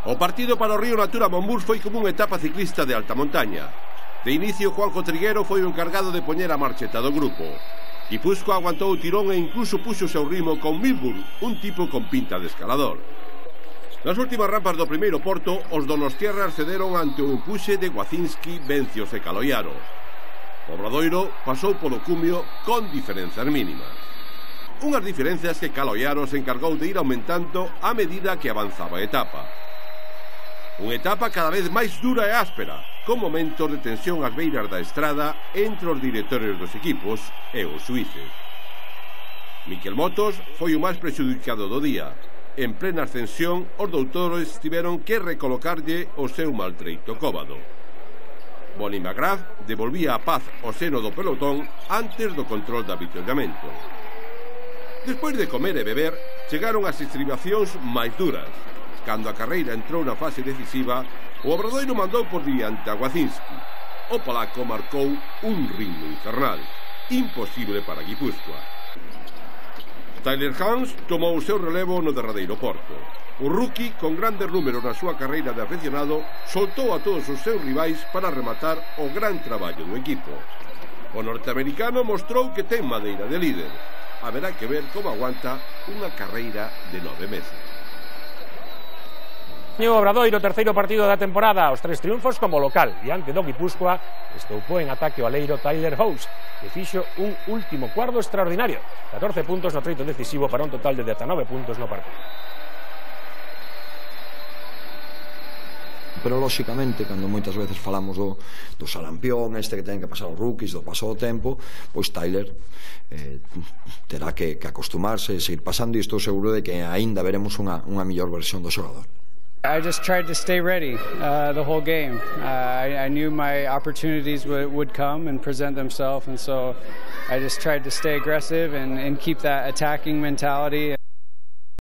O partido para o Río Natura Monbus foi como unha etapa ciclista de alta montaña. De inicio, Juanjo Triguero foi o encargado de poñer a marcheta do grupo. Guipúzcoa aguantou o tirón e incluso puxo o seu ritmo con Milburn, un tipo con pinta de escalador. Nas últimas rampas do primeiro porto, os donostiarras cederon ante o empuxe de Guacinski, Vencios e Caloiaro. O Obradoiro pasou polo cumio con diferenzas mínimas. Unhas diferenzas que Caloiaro se encargou de ir aumentando a medida que avanzaba a etapa. Unha etapa cada vez máis dura e áspera, con momentos de tensión ás beiras da estrada entre os directores dos equipos e os suíces. Miquel Motos foi o máis prexudicado do día. En plena ascensión, os doutores tiveron que recolocarlle o seu maltreito cóbado. Bonnie McGrath devolvía a paz ao seno do pelotón antes do control de avituallamento. Despois de comer e beber, chegaron as estribacións máis duras. Cando a carreira entrou na fase decisiva, o Obradoiro mandou por diante a Guacinski. O polaco marcou un ritmo infernal, imposible para Guipúzcoa. Tyler Hans tomou o seu relevo no derradeiro porto. O rookie, con grandes números na súa carreira de aficionado, soltou a todos os seus rivais para rematar o gran traballo do equipo. O norteamericano mostrou que ten madeira de líder. Haberá que ver como aguanta unha carreira de 9 meses. O Obradoiro, terceiro partido da temporada, os 3 triunfos como local, diante do Guipúzcoa, estoupou en ataque o aleiro Tyler House, que fixo un último cuarto extraordinario, 14 puntos no treito decisivo para un total de 19 puntos no partido. Pero, lóxicamente, cando moitas veces falamos do salampión este que ten que pasar os rookies, do paso do tempo, pois Tyler terá que acostumarse e seguir pasando, e estou seguro de que aínda veremos unha mellor versión do xogador. I just tried to stay ready the whole game. I knew my opportunities would come and present themselves, and so I just tried to stay aggressive and keep that attacking mentality.